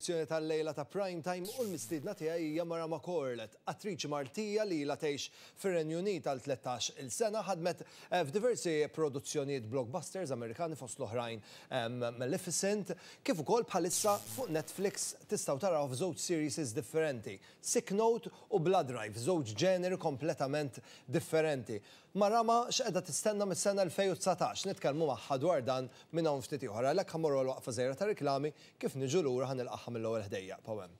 Edizzjoni tal-lejla ta' Prime Time u l-mistiedna tiegħi hija Marama Corlett, attriċi Maltija li ilha tgħix fir-Renju Unit għal 13 il sena, ħadmet f'diversi produzzjonijiet blockbusters Amerikani fost l-oħrajn Maleficent, kif ukoll bħalissa fuq Netflix tistgħu tarawha f'żewġ serieses differenti, Sick Note u Blood Drive, żewġ ġeneri kompletament differenti. Marama x'qiegħda tistenna mis-sena 2019? Nitkellmu magħha dwar dan minn hawn ftit ieħor. Għalhekk ħa mmorru għal waqfa żgħira ta' riklami, kif niġu lura ħa nilqagħha mill-ewwel ħdejja. Ibqgħu hemm.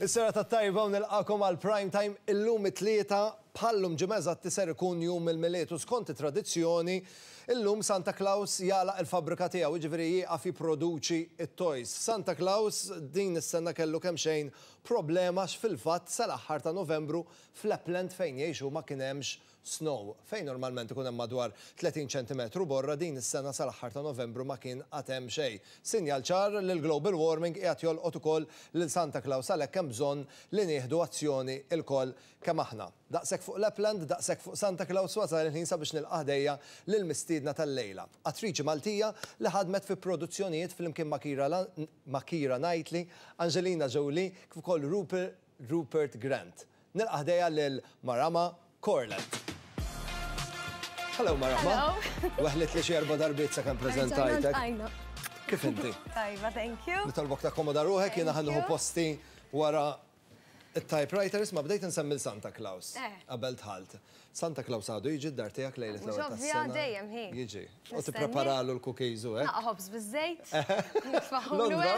Is-serata t-tajba u nilqagħkom għal Prime Time illum it-Tlieta bħal-lum ġimgħa eżatti ser ikun jum il-Milied u skont it-tradizzjoni illum Santa Claus jagħlaq il-fabbrika tiegħu jiġifieri jieqaf jipproduċi t-toys. Santa Claus din is-sena kellu kemxejn problema għax fil-fatt sal-aħħar ta' Novembru f'Lapland fejn jgħix hu ma kien hemmx snow, fejn normalment ikun hemm madwar 30 ċentimetru borra, din is-sena sal-aħħar ta' Novembru ma kien għad hemm xejn. Sinjal ċar li l-global warming qiegħed jolqot ukoll lil Santa Claus għalhekk hemm bżonn li nieħdu azzjoni lkoll kemm aħna. Daqshekk fuq Lapland, daqshekk fuq Santa Claus, wasal il-ħin sabiex nilqa' ħdejja lill-mistiedna tal-lejla. Attriċi Maltija li ħadmet fi produzzjonijiet flimkien ma' ma' Keira Knightley, Angelina Jolie kif ukoll Rupert Grant. Nilqa' ħdejja lil Marama Corlett. Hello Marama. Hello. Weħlit li xi erba' darbiet sakemm preżentajtek. Kif inti? Tajba, thank you. Nitolbok takkomoda ruħek, jiena ħa nieħu posti wara it-typewriters ma bdejt insemmi Santa Claus eh. qabel dħalt. Santa Claus għadu jiġi d-dar tiegħek lejlet l-ewwel tas-sena. Dejjem hi. Jiġi. U tippreparalu l-cookies u hekk. Naqa' ħobż biż-żejt. Londra.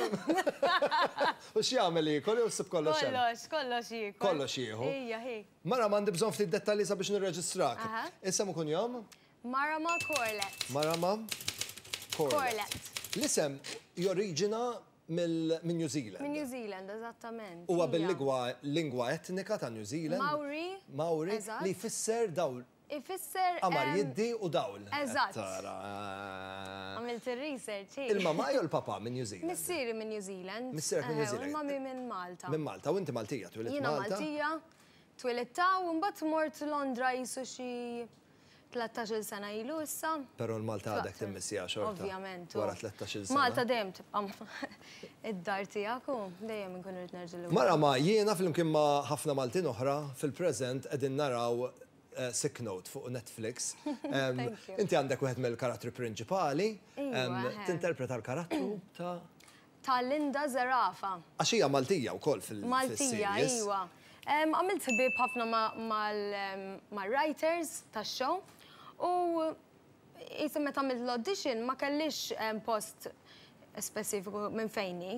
U x'jagħmel jiekol jew ssib kollox hemm? Kollox, kollox jiekol. Kollox jieħu. Ija, hi. Mara m'għandi bżonn ftit dettalji sabiex nirreġistrak. Isem u kunjom? Marama Corlett. Marama Corlett. L-isem joriġina minn New Zealand. Minn New Zealand, eżattament. Huwa bil-lingwa lingwa etnika ta' New Zealand. Maori. Maori. Li jfisser dawl. Ifisser. Qamar jiddi u dawl. Eżatt. Għamilt ir-research, hi. Il-mamà jew il-papà minn New Zealand? Missieri minn New Zealand. Missierek minn New Zealand. U l-mami minn Malta. Minn Malta, u inti Maltija, twilidt Jiena Malta? Maltija, twilidt hawn, u mbagħad mort Londra qisu xi 13-il sena ilu issa. Però l-Malta għadek timmissieha xorta. Ovvjament. Wara 13-il sena. Malta dejjem tibqa' id-dar tiegħek u dejjem inkun irrid nerġa' lura. Mara ma jiena flimkien ma' ħafna Maltin oħra fil-preżent qegħdin naraw Sick Note fuq Netflix. Thank you. Inti għandek wieħed mill-karattri prinċipali. Iva, eħe. Tinterpreta l-karattru ta' Ta' Linda Zerafa. Għax hija Maltija wkoll fil-series. Maltija, iva. Għamilt ħbieb ħafna mal-writers tax-show u qisha meta għamilt l-audition ma kellix post speċifiku minn fejn hi.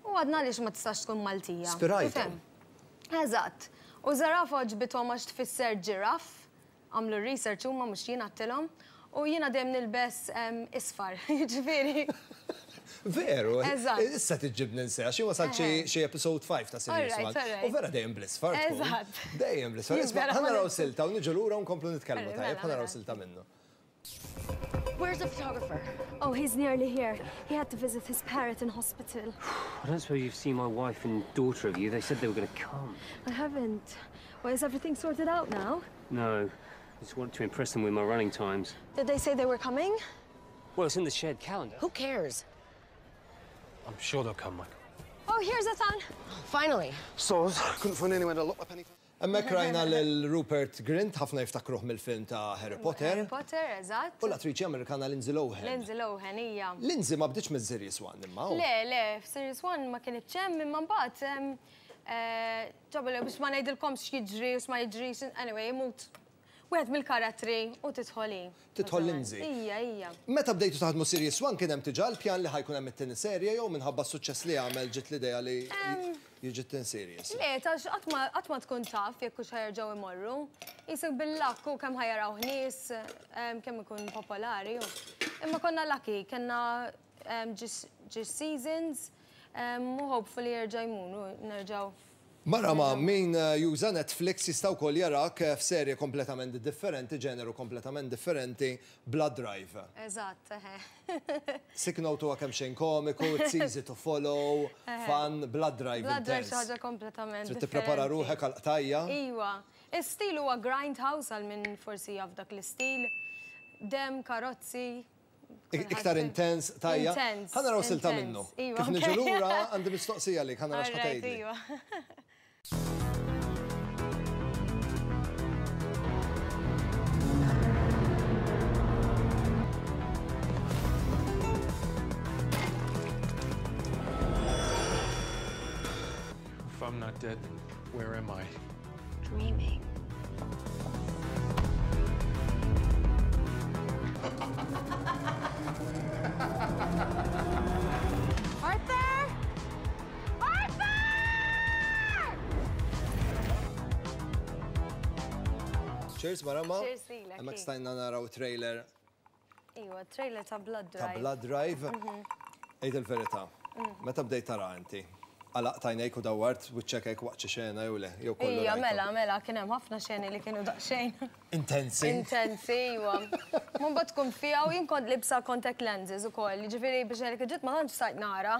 U għadna għaliex ma tistax tkun Maltija. Spirajthom. Eżatt. U Zerafa għoġbithom għax tfisser ġiraff. Għamlu r-research huma mhux jien għedtilhom. U jiena dejjem nilbes isfar, jiġifieri. Veru? Eżatt. Issa tiġġibni nse, għax jien wasalt xi episode 5 ta' series 1. U vera dejjem bl-isfar tkun. Eżatt. Dejjem bl-isfar. Isma' ħa naraw silta u niġu lura u nkomplu nitkellmu, tajjeb? Ħa naraw silta minnu. Where's the photographer? Oh, he's nearly here. He had to visit his parrot in hospital. I don't suppose you've seen my wife and daughter, have you? They said they were going to come. I haven't. Well, is everything sorted out now? No. I just wanted to impress them with my running times. Did they say they were coming? Well, it's in the shared calendar. Who cares? I'm sure they'll come, Michael. Oh, here's Ethan. Finally. Soz, couldn't find anywhere to lock up anything. Hemmhekk rajna lil Rupert Grint, ħafna jiftakruh mill-film ta' Harry Potter. Harry Potter, eżatt. U l-attriċi Amerikana Lindsay Lohan. Lindsay Lohan, hija. Lindsay ma bdietx mis-Series One imma. Le, le, f'Series One ma kinitx hemm imma mbagħad ġabu biex ma ngħidilkomx x'jiġri u x'ma jiġrix, anyway, imut wieħed mill-karattri u tidħol hi. Tidħol Lindsay. Ija, ija. Meta bdejtu taħdmu Series One kien hemm diġà l-pjan li ħa jkun hemm it-tieni serje jew minħabba s-suċċess li għamel ġiet l-idea li jiġi t-tieni series? Le, tax qatt ma qatt ma tkun taf jekk hux ħa jerġgħu jmorru. Qisek bil-luck u kemm ħa jarawh nies, kemm ikun popolari u. Imma konna lucky, kellna ġiex seasons u hopefully jerġa' jmur u nerġgħu. Mara ma' min juża Netflix jista' wkoll jarak f'serje kompletament differenti, ġeneru kompletament differenti, Blood Drive. Eżatt, eħe. Sick Note huwa kemxejn komiku, it's easy to follow, fun, Blood Drive Blood Drive xi intense. ħaġa kompletament Trid tipprepara differenti. ruħek għall-qtajja. Iwa. Is-stil huwa grindhouse għal min forsi jaf dak l-istil. Demm, karozzi. Iktar intens, tajja. Intens. Ħa naraw silta minnu. Iva, Kif niġu lura għandi mistoqsija għalik, ħa nara x'ħa tgħidli. Iva. If I'm not dead, then where am I? Dreaming. Arthur! Arthur! Cheers, Marama. Cheers lilek. Hemmhekk stajna naraw trailer Iwa, trailer ta' Blood ta' Drive. Blood Drive. Għid il-verità. Meta bdejt tara inti? Għalaqt għajnejk u dawwart wiċċek hekk waqt xi xena jew le? Jew kollu Ija, rajthom? mela, mela, kien hemm ħafna xeni li kienu daqsxejn. Intensi. Intensi, iwa. Ma mbagħad tkun fiha u jien kont libsa contact lenses ukoll, jiġifieri biex ngħidlek id-dritt ma tantx stajt nara.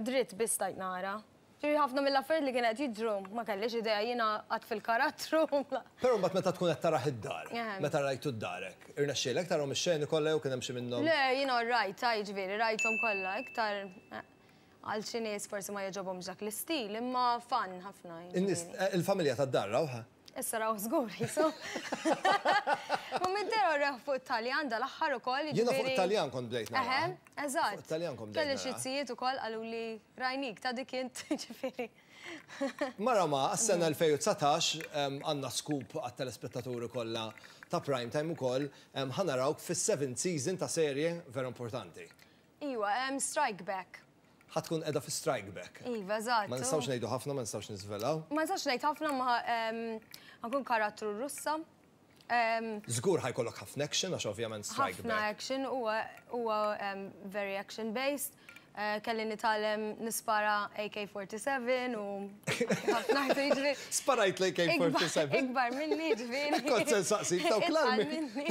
Dritt biss stajt nara. Ġifieri ħafna mill-affarijiet li kien qed jiġru ma kellix idea jiena qatt fil-karattru. Però mbagħad meta tkun qed tarah id-dar, meta rajtu d-darek, irnexxielek tarahom ix-xeni kollha jew kien hemm xi minnhom? Le, jiena rajt, jiġifieri rajthom kollha, iktar għal xi nies forsi ma jogħġobhomx dak l-istil, imma fun ħafna. In-nies, il-familja tad-dar rawha? Issa raw żgur jisu. Ma mid-dera rew fuq Taljan dal-aħħar ukoll. Jiena fuq Taljan kont bdejt nara. Eħe, eżatt. Fuq Taljan kont bdejt Kelli xi zijiet ukoll qalu li rajnik ta' dik int ġifieri. Mara ma, għas-sena 2019 għandna scoop għat-telespettaturi kollha ta' Prime Time ukoll, ħa narawk fis-seventh season ta' serje vera importanti. Iwa, Strike Back. Ħa tkun qiegħda fi Strike Back. Iva, eżatt. Ma nistgħux ngħidu ħafna, ma nistgħux niżvelaw. Ma nistax ngħid ħafna ma ħa nkun karattru Russa. Żgur ħa jkollok ħafna action għax ovvjament Strike Ħafna Back. action, huwa huwa very action based. Kelli nitgħallem nispara AK-47 u ħafna jiġifieri. Sparajt l-AK-47? Ikbar minni ġifieri. Kont se nsaqsik dawk l-armi. Itqal minni.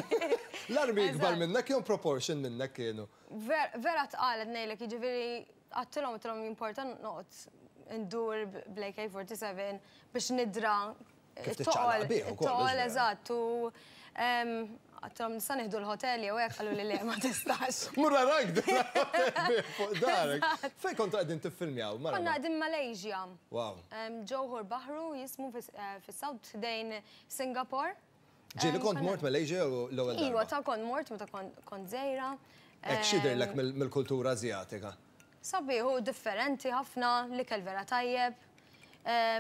L-armi ikbar Eżatt. minnek jew proportion minnek kienu? Vera tqal qed ngħidlek, jiġifieri għadtilhom għedtilhom jimporta noqgħod ndur bl-AK-47 biex nidra Kif tiċċaqlaq bih ukoll, it-toqol, mhux vera? eżatt, u għadtilhom nista' nieħdu l-hotel jew hekk qalu li le ma tistax. Mur arak din l-hotel bih fuq darek. Fejn kontu qegħdin tiffilmjaw? Mara Konna ma. qegħdin Malaysia. Wow. Johor Bahru jismu fis-South ħdejn Singapore. Ġieli kont mort Malaysia jew l-ewwel Iwa, darba? ta' kont mort meta kont żgħira. Hekk x'jidhirlek mill-kultura Ażjatika? Sabiħ u differenti ħafna, l-ikel vera tajjeb.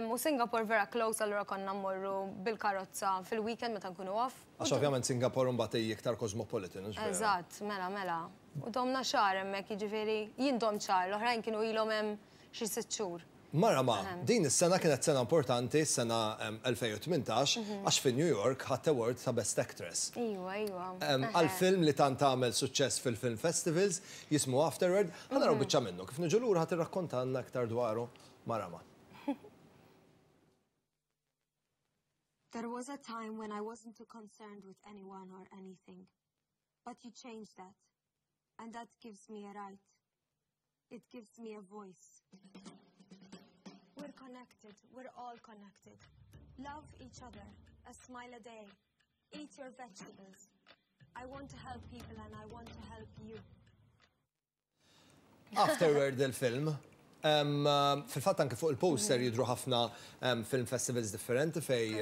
U Singapore vera close, allura konna mmorru bil-karozza fil-weekend meta nkunu off. Għax ovvjament Singapore mbagħad hi iktar cosmopolitan, hux vera? Eżatt, mela, mela. U domna xahar hemmhekk, jiġifieri jien domt xahar, l-oħrajn kienu ilhom hemm xi sitt xhur. Mara ma, din is-sena kienet sena importanti, s-sena 2018, għax fi New York ħadt award ta' Best Actress. Iwa, iwa. Għal film li tant għamel suċċess fil-film festivals, jismu Afterword, ħa naraw biċċa minnu. Kif niġu lura ħa tirrakkontalna aktar dwaru Mara ma. There was a time when I wasn't too concerned with anyone or anything. But you changed that. And that gives me a right. It gives me a voice. We're connected. We're all connected. Love each other. A smile a day. Eat your vegetables. I want to help people and I want to help you. Afterward il-film. Fil-fatt anke fuq il-poster jidhru ħafna film festivals differenti fej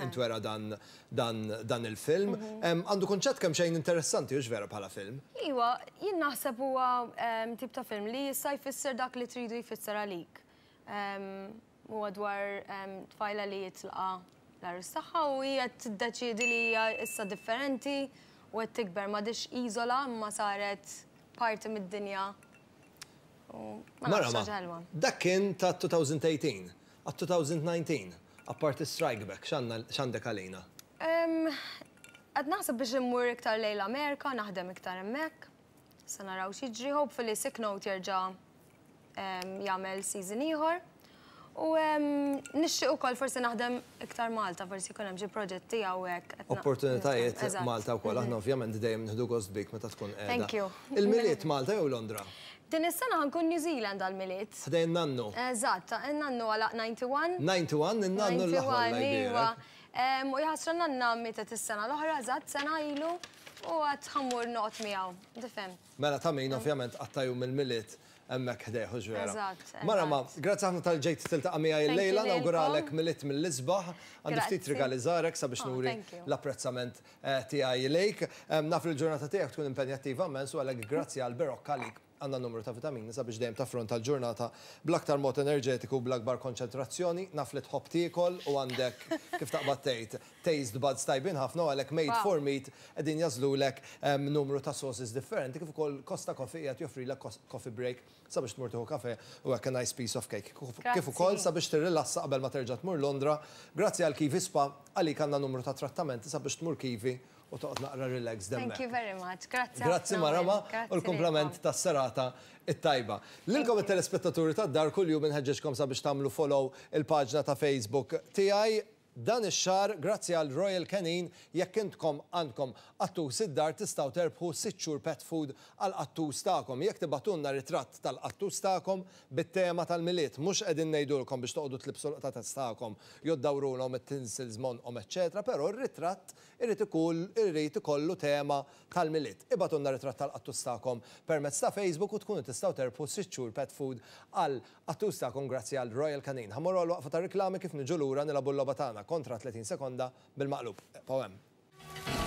intwera dan il-film. Għandu kunċett kemm xejn interessanti, hux vera bħala film? Iwa, jien naħseb huwa tip ta' film li jista' jfisser dak li tridu jfisser għalik. Huwa dwar tfajla li jitlqa l-għarus tagħha u hija tiddeċiedi li hija issa differenti u qed tikber m'għadhiex iżola imma saret parti mid-dinja. Ma Mara nafx ma, ħaġa ħelwa. dak kien ta' 2018, għat 2019, apparti Strike Back, x'għandek għalina? Qed naħseb biex immur iktar lejn l-Amerika, naħdem iktar hemmhekk. Se naraw x'jiġri, hopefully Sick Note jerġa' jagħmel season ieħor. U nixtieq ukoll forsi naħdem iktar Malta, forsi jkun hemm xi proġetti hawnhekk qed Opportunitajiet Eżatt. Malta wkoll, aħna ovvjament dejjem nieħdu gost bik meta tkun qiegħda. Thank you. Il-Milied Malta jew Londra? Din is-sena ħa nkun New Zealand għall-Milied. Ħdejn nannu. Eżatt, in-nannu għalaq 91. 91, in-nannu l-aħwa 91, iva. U jaħasra nanna mietet is-sena l-oħra, eżatt sena ilu, u għad ħa mmur noqgħod miegħu, tifhem. Mela ta' min ovvjament qatta' jum il-Milied hemmhekk ħdejh, hux vera? Eżatt. Marama, grazzi ħafna talli ġejt tiltaqa' miegħi illejla, nawguralek Milied mill-isbaħ. Għandi ftit rigali żgħar hekk sabiex nuri l-apprezzament tiegħi lejk. Naf li l-ġurnata tiegħek tkun impenjattiva immens u għalhekk grazzi għal Berocca għalik għandna numru ta' vitamini sabiex dejjem taffronta l-ġurnata bl-aktar mod enerġetiku u bl-akbar konċentrazzjoni. Naf li tħobb tiekol u għandek, kif taqbad tgħid, taste buds tajbin ħafna u għalhekk Made for Meat qegħdin jagħżlulek numru ta' sauces differenti kif ukoll Costa Coffee qiegħed joffrilek coffee break sabiex tmur tieħu kafè u hekk a nice piece of cake. Kif ukoll sabiex tirrilassa qabel ma terġa' tmur Londra. Grazzi għal Kiwi Spa, għalik għandna numru ta' trattamenti sabiex tmur Kiwi u toqgħod naqra relaxed hemmhekk. Thank you very much. Grazzi ħafna. Grazzi Marama u l-kumplament tas-serata t-tajba. Lilkom it-telespettaturi tad-dar kuljum inħeġġeġkom sabiex tagħmlu follow il-paġna ta' Facebook tiegħi. Dan ix-xahar, grazzi għal Royal Canin, jekk intkom għandkom qattus id-dar tistgħu terbħu sitt xhur pet food għall-qattus tagħkom. Jekk tibagħtulna ritratt tal-qattus tagħkom bit-tema tal-Milied, mhux qegħdin ngħidulkom biex toqogħdu tlibbsu l-qtates tagħkom jew ddawrulhom it-tinsels m'għonqhom eċċetera, però r-ritratt irid ikun irid ikollu tema tal-Milied. Ibagħtulna ritratt tal-qattus tagħkom permezz ta' Facebook u tkunu tistgħu terbħu sitt xhur pet food għal Qattus tagħkom grazzi għal Royal Canin. Ħa mmorru għal waqfa ta' riklami kif niġu lura nilagħbu l-logħba tagħna kontra 30 sekonda bil-maqlub. Ibqgħu hemm.